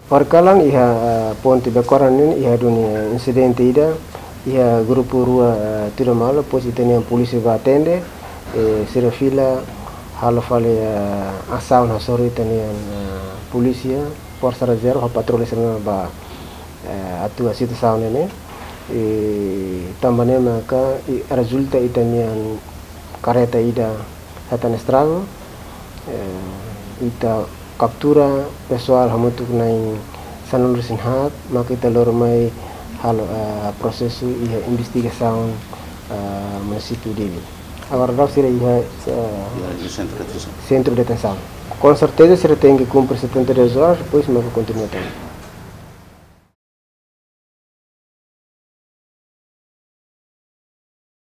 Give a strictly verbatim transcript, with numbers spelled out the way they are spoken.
Horikalan iha, eh, ponte Bekoran ne'e iha duni, eh, insidente ida, iha grupu rua, eh, tuda malu, depois ita-nia polísia bá atende, eh, sira fila halo fali, eh, asaun hasoru ita-nia, eh, polísia, forsa rezerva, ho patrullu sira bá, eh, atua situasaun ne'e, eh, tanba ne'e maka, i, rezulta ita-nia kareta ida hetan estragu, eh, ita kaptura pesoál hamutuk na'in sanulu-resin-haat, maka ita lori mai halo, eh, prosesu iha investigasaun, eh, munisípiu Dili. Agora daudaun sira iha, eh, Ya, iha sentru detensaun. Sentru detensaun. Com certeza sira tenke kumpre setenta e duas horas, depois maka kontinua tan.